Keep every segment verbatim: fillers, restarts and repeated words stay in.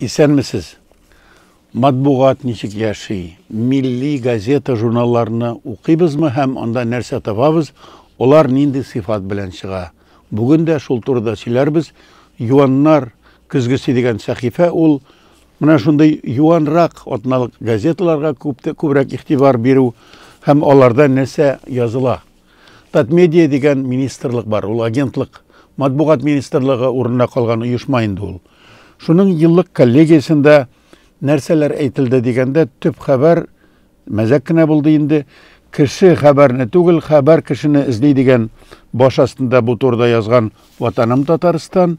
Исәнмесез. Матбугат ничек яши? Милли газета, журналларны укыйбызмы һәм анда нәрсә табабыз? Алар нинди сыйфат белән чыга? Бүген дә шул турыда сөйләрбез. Юаннар көзгесе дигән сәхифә ул менә шундый юанрак атналык газеталарга күп күбрәк игътибар бирү һәм аларда нәрсә языла. Татмедиа дигән министрлык бар, ул агентлык, матбугат министрлыгы урынына калган оешма инде ул. Шуның еллык коллегиясендә нәрсәләр әйтелде дигәндә, төп хәбәр мәзәк кенә булды инде. Кеше хәбәрне түгел, хәбәр кешене эзли дигән баш астында бу турыда язган Ватаным Татарстан.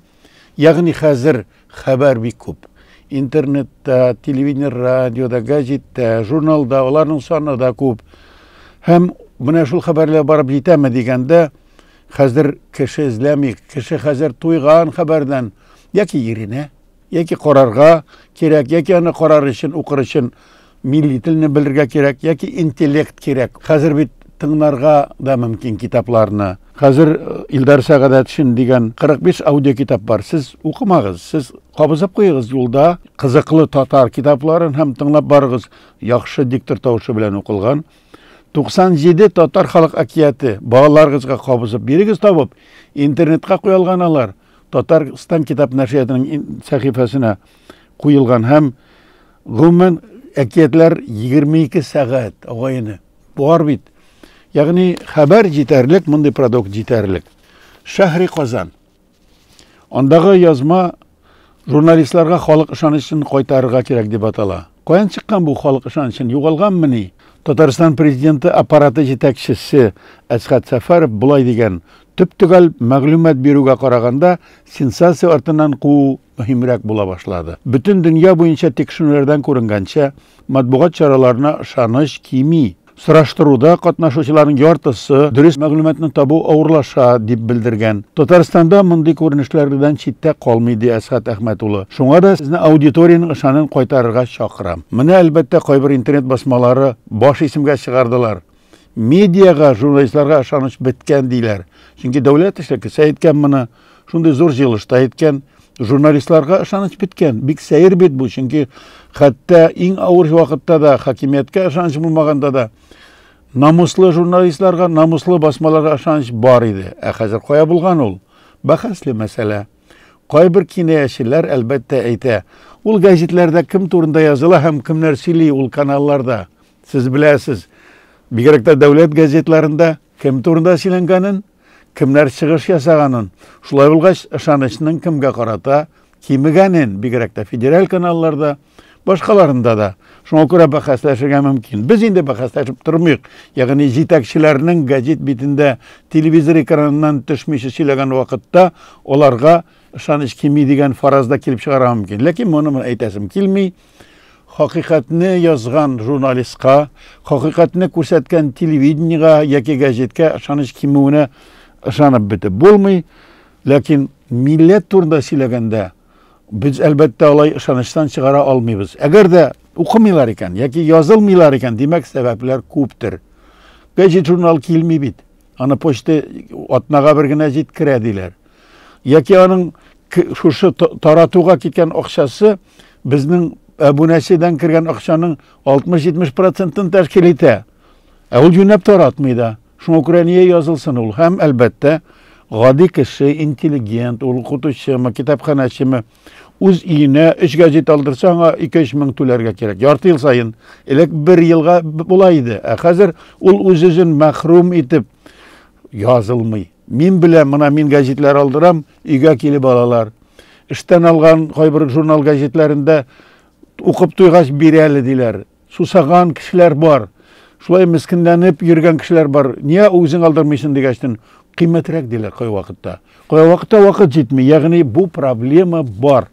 Ягъни хәзер хәбәр бик күп. Интернетта, телевидение, радиода, газетта, журналда, аларның саны да күп. Һәм менә шул хәбәрләр барып җитәме дигәндә, хәзер кеше эзләми, кеше хәзер туйган хәбәрдән, яки иренә, яки карарга кирәк, яки аны карар өчен, укыр өчен милли телне белергә кирәк, яки интеллект кирәк. Хәзер бит тыңларга да мөмкин китапларны. Хәзер Илдар Сәгадәтшин дигән кырык биш аудио китап бар. Сез укымагыз, сез кабызып куегыз юлда кызыклы татар китапларын һәм тыңлап барыгыз. Яхшы диктор тавышы белән укылган туксан җиде татар халык әкияте балаларыгызга кабызып бирегез табып, интернетка куелган алар. Татарстан китап нәшриятының сәхифәсенә куелган һәм гомумән әкиятләр егерме ике сәгать агайны бар бит. Ягъни хәбәр җитәрлек, мондый продукт җитәрлек. Шәһри Казан. Андагы язма журналистларга халык ышанычын кайтарырга кирәк дип атала. Каян чыккан бу халык ышанычын? Югалганмыни? Татарстан президенты аппараты җитәкчесе Әсхәт Сәфәров болай дигән: төп-төгәл мәгълүмат бирүгә караганда сенсация артыннан куу мөһимрәк була башлады. Бөтен дөнья буенча тикшерүләрдән күренгәнчә, матбугат чараларына ышаныч кими. Сораштыруда катнашучыларның яртысы дөрес мәгълүматны табу авырлаша дип белдергән. Татарстанда мондый күренешләрдән читтә калмый, ди Әсхәт Әхмәт улы. Шуңа да сезне аудиторияның ышанын кайтарырга чакырам. Менә әлбәттә кайбер интернет басмалары баш исемгә чыгардылар. Медиага, журналистларга ышаныч беткән диләр. Чөнки дәүләт эшлеклесе әйткән моны, шундый зур җыелышта әйткән, журналистларга ышаныч беткән. Бик сәер бит бу, чөнки хәтта иң авыр вакытта да, хакимияткә ышаныч булмаганда да намуслы журналистларга, намуслы басмаларга ышаныч бар иде. Ә хәзер кая булган ул? Бәхәсле мәсьәлә. Кайбер кинаячеләр әлбәттә әйтә, ул гәзитләрдә кем турында языла һәм кемнәр сөйли ул каналларда. Сез беләсез, бигрәк тә дәүләт газетларында кем турында сөйләнгәнен, кемнәр чыгыш ясаганын. Шулай булгач, ышанычның кемгә карата кимегәнен, бигрәк тә федераль каналларда, башкаларында да. Шуңа күрә бәхәсләшергә мөмкин. Без инде бәхәсләшеп тормыйк. Ягъни җитәкчеләрнең гәзит битендә телевизор экраныннан төшмичә сөйләгән вакытта аларга ышаныч кими дигән фараз да килеп чыгарга мөмкин. Ләкин моны мин әйтәсем килми. Хакыйкатьне язган журналистка, хакыйкатьне күрсәткән телевидениега яки гәзиткә ышаныч кимүенә ышанып бетеп булмый. Ләкин милләт турында сөйләгәндә без әлбәттә алай ышанычтан чыгара алмыйбыз. Әгәр дә укымыйлар икән яки язылмыйлар икән, димәк сәбәпләр күптер. Гәзит журнал килми бит. Аны почта атнага бер генә җиткерә диләр. Яки аның шушы таратуга киткән акчасы безнең әбүнәчедән кергән акчаның алтмыш-җитмеш процентын тәшкил итә. Ә ул юнәп таратмый да. Шуңа күрә нигә язылсын ул? Һәм әлбәттә гади кеше, интеллигент, ул укытучымы, китапханәчеме, үз өенә өч гәзит алдырса, аңа ике-өч мең түләргә кирәк. Ярты ел саен. Элек бер елга була иде. Ә хәзер ул үз-үзен мәхрүм итеп язылмый. Мин беләм, менә мин гәзитләр алдырам, өйгә килеп алалар. Эштән алган кайбер журнал гәзитләрендә укып туйгач бирә әле диләр. Сусаган кешеләр бар. Шулай мескенләнеп йөргән кешеләр бар. Нигә үзең алдырмыйсың дигәчтен, кыйммәтрәк диләр кай вакытта. Кай вакытта вакыт җитми, ягъни бу проблема бар.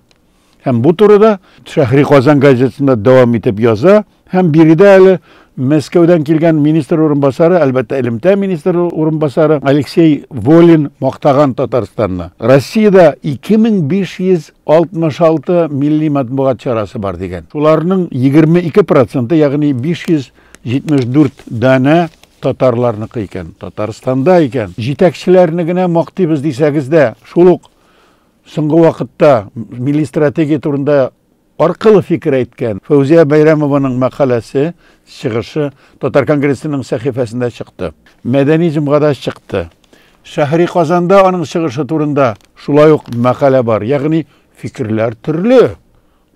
Һәм бу турыда Шәһри Казан газетасында дәвам итеп яза. Һәм биредә әле Мәскәүдән килгән министр урынбасары, әлбәттә элемтә министры урынбасары Алексей Волин мактаган Татарстанны. Россиядә ике мең биш йөз алтмыш алты милли матбугат чарасы бар дигән. Шуларның егерме ике проценты, ягъни биш йөз җитмеш дүрт данә татарларныкы икән, Татарстанда икән. Җитәкчеләрне генә мактыйбыз дисәгез дә, шул ук соңгы вакытта милли стратегия турында Аркылы фикер әйткән Фәүзия Бәйрәмованың мәкаләсе, чыгышы Татар конгрессының сәхифәсендә чыкты. Мәдәни җомгада чыкты. Шәһри Казанда аның чыгышы турында шулай ук мәкалә бар. Ягъни фикерләр төрле.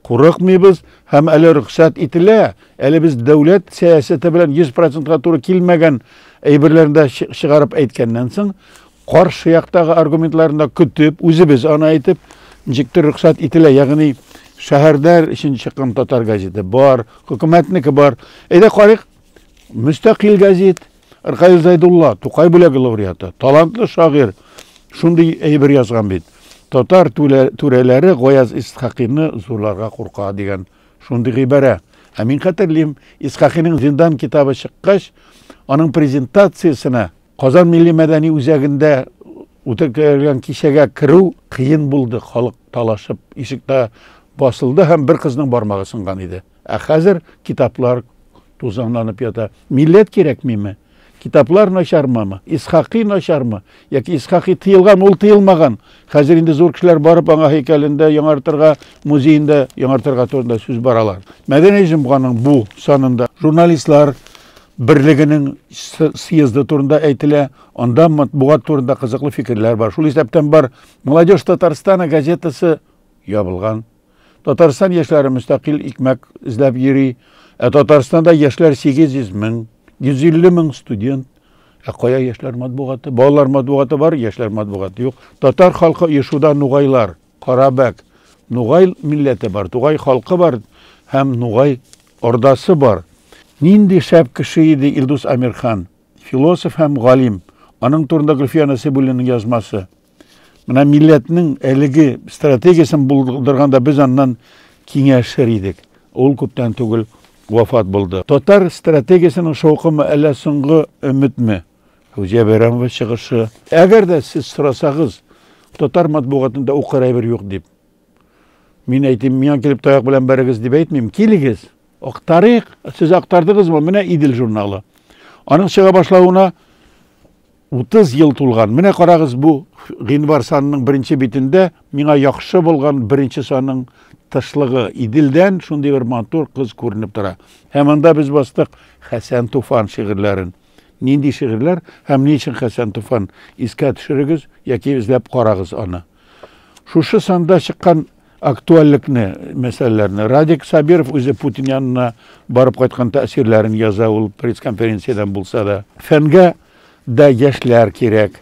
Курыкмыйбыз һәм әле рөхсәт ителә. Әле без дәүләт сәясәте белән йөз процентка туры килмәгән әйберләрне дә чыгарып әйткәннән соң, каршы яктагы аргументларны да көтеп, үзебез аны әйтеп, ничектер рөхсәт ителә. Ягъни шәһәрләр өчен чыккан татар газеты бар, хөкүмәтнеке бар. Әйдә карыйк, мөстәкыйль газет, Ркаил Зайдулла, Тукай бүләге лауреаты, талантлы шагыйрь, шундый әйбер язган бит. Татар түрәләре Гаяз Исхакыйны зурларга курка дигән шундый гыйбарә. Ә мин хәтерлим, Исхакыйның Зиндан китабы чыккач, аның презентациясенә Казан милли мәдәни үзәгендә үткәрелгән кичәгә керү кыен булды. Халык талашып ишектә басылды һәм бер кызның бармагы сынган иде. Ә хәзер китаплар тузанланып ята. Милләт кирәкмиме? Китаплар начармы? Исхакый начармы? Яки Исхакый тыелган, ул тыелмаган. Хәзер инде зур кешеләр барып аңа һәйкәлендә яңартырга, музеенда яңартырга турында сүз баралар. Мәдәни җомганың бу санында журналистлар берлегенең съезды турында әйтелә. Анда матбугат турында кызыклы фикерләр бар. Шул исәптән бар Молодежь Татарстана газетасы ябылган. Татарстан яшьләре мөстәкыйль икмәк эзләп йөри. Ә Татарстанда яшьләр сигез йөз мең, йөз илле мең студент. Ә кая яшьләр матбугаты? Балалар матбугаты бар, яшьләр матбугаты юк. Татар халкы оешуда нугайлар, Карабәк, нугай милләте бар, тугай халкы бар һәм нугай ордасы бар. Нинди шәп кеше иде Илдус Амирхан, философ һәм галим. Аның турында Гөлфия Насыйбуллинаның язмасы. Менә милләтнең әлеге стратегиясен булдырганда без аннан киңәшер идек. Ул күптән түгел вафат булды. Татар стратегиясенең шаукымы әллә соңгы өметме? Фәүзия Бәйрәмова чыгышы. Әгәр дә сез сорасагыз, татар матбугатында укыр әйбер юк дип. Мин әйтим, миңа килеп таяк белән бәрегез дип әйтмим. Килегез, актарыйк. Сез актардыгызмы? Менә Идел журналы. Аның чыга башлавына утыз ел тулган. Менә карагыз, бу гыйнвар санының беренче битендә миңа яхшы булган беренче санның тышлыгы. Иделдән шундый бер матур кыз күренеп тора. Һәм анда без бастык Хәсән Туфан шигырьләрен. Нинди шигырьләр һәм ни өчен Хәсән Туфан? Искә төшерегез яки эзләп карагыз аны. Шушы санда чыккан актуальлекне, мәсьәләләрне Радик Сабиров үзе Путин янына барып кайткан тәэсирләрен яза, ул пресс-конференциядән булса да. Фәнгә дә яшьләр кирәк.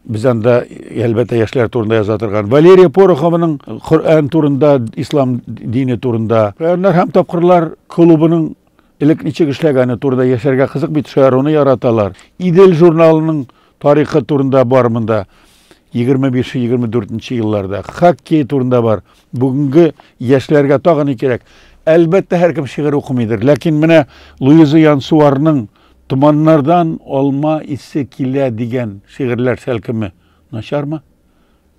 Без анда, әлбәттә, яшьләр турында яза торган. Валерия Порохованың Коръән турында, ислам дине турында. Шаярнар һәм тапкырлар клубының элек ничек эшләгәне турында яшәргә кызык бит, шаяруны яраталар. Идел журналының тарихы турында бар монда. Егерме биш, егерме дүртенче елларда. Хоккей турында бар. Бүгенге яшьләргә тагы ни кирәк? Әлбәттә, һәркем шигырь укымыйдыр. Ләкин менә Луиза Янсуарның Томаннардан алма исе килә дигән шигырьләр шәлкеме начармы?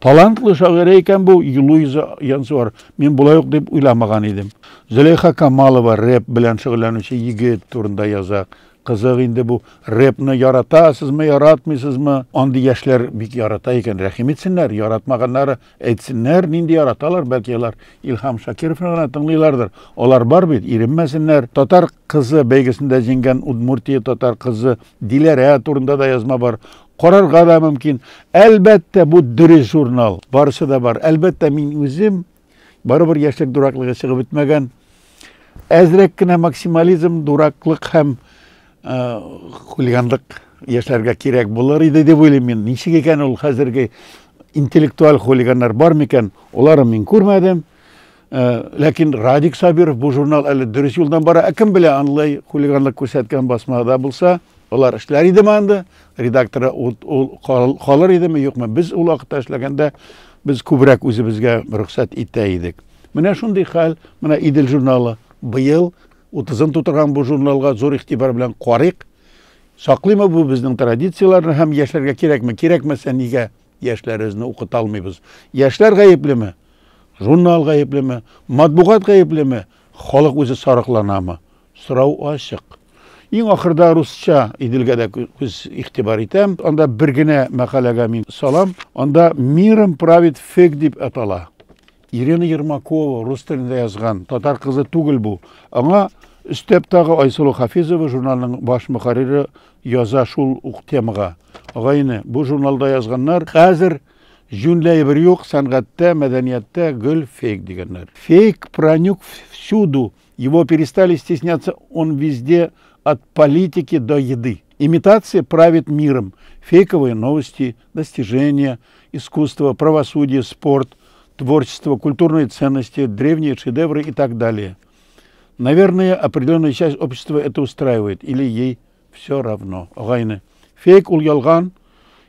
Талантлы шагыйрә икән бу Луиза Янсуар. Мин болай ук дип уйламаган идем. Зөләйха Камалова рэп белән шөгыльләнүче егет турында яза. Кызык инде бу рэпны яратасызмы, яратмыйсызмы? Андый яшьләр бик ярата икән, рәхим итсеннәр, яратмаганнары әйтсеннәр, нинди яраталар, бәлки алар Илһам Шакировны гына тыңлыйлардыр. Алар бар бит, иренмәсеннәр. Татар кызы бәйгесендә җиңгән Удмуртия татар кызы Диләрә турында да язма бар. Карарга да мөмкин. Әлбәттә, бу дөрес журнал. Барысы да бар. Әлбәттә, мин үзем барыбер яшьлек дураклыгы чыгып бетмәгән. Әзрәк кенә максимализм, дураклык һәм хулиганлык яшьләргә кирәк булыр иде дип уйлыйм мин. Ничек икән ул хәзерге интеллектуаль хулиганнар бар микән? Оларын мин күрмәдем. Ләкин Радик Сабиров бу журнал әле дөрес юлдан бара. Ә кем белә, андый хулиганлык күрсәткән басмада булса, алар эшләр идеме анда? Редакторы ул калыр идеме, юкмы? Без ул вакытта эшләгәндә без күбрәк үзебезгә рөхсәт итә идек. Менә шундый хәл, менә Идел журналы быел утызын тутырган бу журналга зур игътибар белән карыйк. Саклыймы бу безнең традицияләрне һәм яшьләргә кирәкме? Кирәкмәсә, нигә яшьләребезне укыта алмыйбыз? Яшьләр гаеплеме? Журнал гаеплеме? Матбугат гаеплеме? Халык үзе сарыкланамы? Сорау ачык. Иң ахырда русча Иделгә дә күз игътибар итәм. Анда бер генә мәкаләгә мин салам. Анда Миром правит фиг дип атала. Ирина Ермакова рус телендә язган, татар кызы түгел бу. Аңа өстәп тагы Айсылу Хафизова, журналның баш мөхәррире, яза шул ук темага. Агайны, бу журналда язганнар, хәзер җүнле әйбер юк, сәнгатьтә, мәдәнияттә гел фейк дигәннәр. Фейк проник всюду, его перестали стесняться, он везде, от политики до еды. Имитация правит миром. Фейковые новости, достижения, искусство, правосудие, спорт, творчество, культурные ценности, древние шедевры и так далее. Наверное, определенная часть общества это устраивает или ей все равно. Агайны. Фейк ул ялган,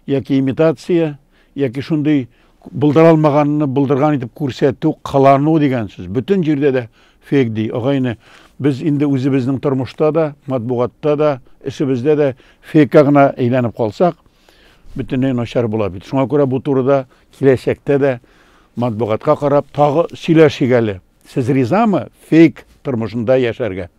яки имитация, яки шундый булдыра алмаганны булдырган итеп күрсәтү, кылану дигән сүз. Бөтен җирдә дә фейк ди. Агайны, без инде үзебезнең тормышта да, матбугатта да, эшебездә дә фейкка гына әйләнеп калсак, бөтенләй начар була бит. Шуңа күрә бу турыда киләчәктә дә матбугатка карап тагы сөйләшик әле. Сез ризамы фейк тормышында яшәргә?